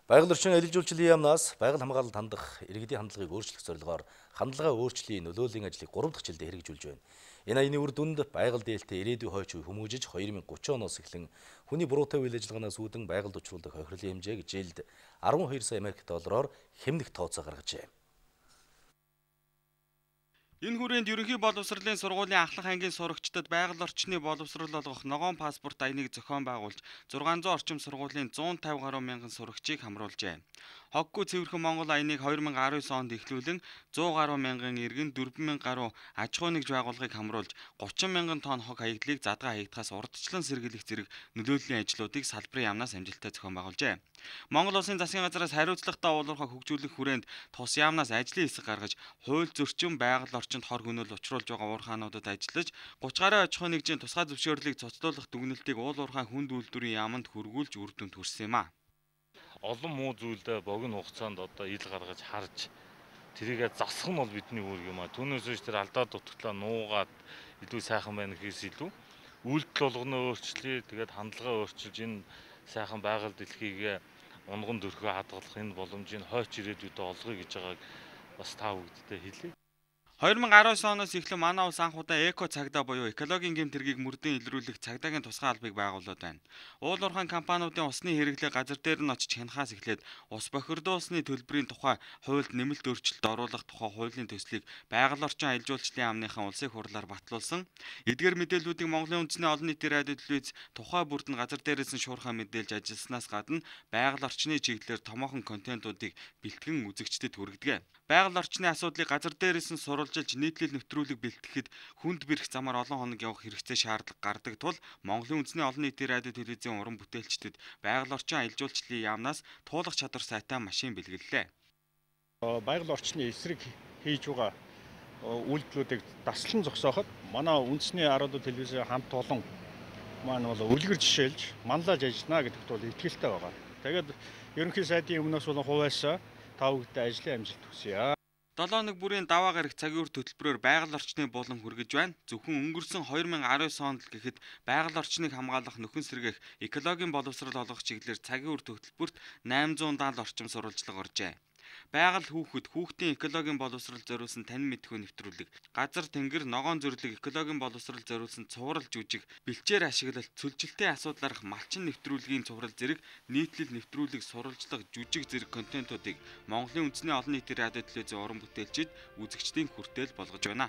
Байгаль орчин аялал жуулчлалын яамнаас байгаль хамгаалалд хандах иргэдийн хандлагыг өөрчлөх зорилгоор хандлага өөрчлөлийн нөлөөллийн ажлыг 3 дахь жилдээ хэрэгжүүлж байна. Энэ аяны үр дүнд байгаль дээлтэй ирээдүйн хойч үе хүмүүжиж 2030 оноос эхлэн хүний буруутай үйл ажиллагаанаас үүдэн байгальд учруулах хохирлын хэмжээг жилд 12 сая Америк доллараар хэмнэх тооцоо гаргажээ. Энэ хүрээнд ерөнхий боловсролын сургуулийн ахлах ангийн сурагчдад байгаль орчны боловсрол олгох ногоон паспорт аяныг зохион байгуулж 600 орчим сургуулийн 150 гаруй мянган сурагчийг хамруулжээ. Хоггүй цэвэрхэн Монгол аяныг 2019 онд эхлүүлэн 100 гаруй мянган иргэн 4,000 гаруй аж ахуй нэгж байгууллагыг хамруулж 30 мянган тонн хог хаягдлыг задгаа хаягдахаас урдчлан сэргийлэх зэрэг нөлөөллийн ажлуудыг салбарын яамнаас амжилттай зохион байгуулжээ. Монгол Улсын засгийн газраас хариуцлагатай уулуурхай хөгжүүлэх хүрээнд тус яамнаас ажлын хэсэг гаргаж хууль зөрчил байгаль орчинд хор хөнөөл учруулж байгаа уурхаануудад ажиллаж 30 гаруй аж ахуй нэгжийн тусгай зөвшөөрлийг цуцлуулах дүгнэлтийг уулуурхай хүнд үйлдвэрийн яамд хүргүүлж үр дүнд хүрсэн юм а. Олон муу зүйлдээ богино хугацаанд одоо ил гаргаж харж тэрийгэ засах нь бол бидний үүрэг юм а. Түүнээс биш тэр алдаа дутагдлаа нуугаад илүү сайхан байна гэхээс илүү үйлдэл болгоно өөрчлөе. Тэгээд хандлага өөрчилж энэ сайхан байгаль дэлхийг унган дөрхөө хадгалах энэ боломжийг хойч ирээдүйд олгоё гэж байгааг бас та бүгдтэй хэлье. 2019 оноос эхлэн манай улс анх удаа эко цагдаа буюу экологийн гэмтэргийг мөрдөн илрүүлэх цагдаагийн тусгай албыг байгуулад байна. Уулуурхайн компаниудын усны хэрэглээ газар дээр нь очиж хянахаас эхлээд ус бохирдуулсны төлбөрийн тухай хуульд нэмэлт өөрчлөлт оруулах тухай хуулийн төслийг байгаль орчин аялал жуулчлалын яамныхан улсын хурлаар батлуулсан. Эдгээр мэдээллүүдийг Монголын үндэсний олон нийтийн радио телевиз тухай бүрд нь газар дээрээс нь шуурхай мэдээлж ажилласнаас гадна байгаль орчны чиглэлээр томоохон контентуудыг бэлтгэн үзэгчдэд хүргэдэг. Байгаль орчны асуудлыг газар дээрээс нь сурвалжилж нийтлэл нэвтрүүлэг бэлтгэхэд хүнд бэрх замаар олон хоног явах хэрэгцээ шаардлага гардаг тул Монголын үндэсний олон нийтийн радио телевизийн уран бүтээлчдэд байгаль орчин аялал жуулчлалын яамнаас туулах чадвар сайтай машин бэлгэллээ. Байгаль орчны эсрэг хийж байгаа үйлдэлүүдийг даслан зогсооход манай үндэсний радио телевизийн хамт олон маань бол үлгэр жишээлж манлайлж ажиллана гэдэгт бол итгэлтэй байгаа. Тэгээд ерөнхий сайдын өмнөөс болон хуваасаа та бүхэнд ажлын амжилт хүсье. 7 хоног бүрийн даваа гарах цагийн үр хөтөлбөрөөр байгаль орчны булан хүргэж байна. Зөвхөн өнгөрсөн 2019 онд л гэхэд байгаль орчныг хамгаалах нөхөн сэргээх экологийн боловсрол олгох чиглэлээр цагийн үр хөтөлбөрт 870 орчим сурвалжлага оржээ. Байгаль хүүхдийн экологийн боловсрол зориулсан танин мэдхүй нэвтрүүлэг, газар тэнгэр ногоон зөвлөг экологийн боловсрол зориулсан цуврал жүжиг, бэлчээр ашиглалт, цөлжилтийн асуудлаарх малчин нэвтрүүлгийн цуврал зэрэг нийтлэл нэвтрүүлэг сурвалжлага жүжиг зэрэг контентуудыг Монголын үндэсний олон нийтийн радио телевизийн уран бүтээлчид үзэгчдийн хүртээл болгож байна.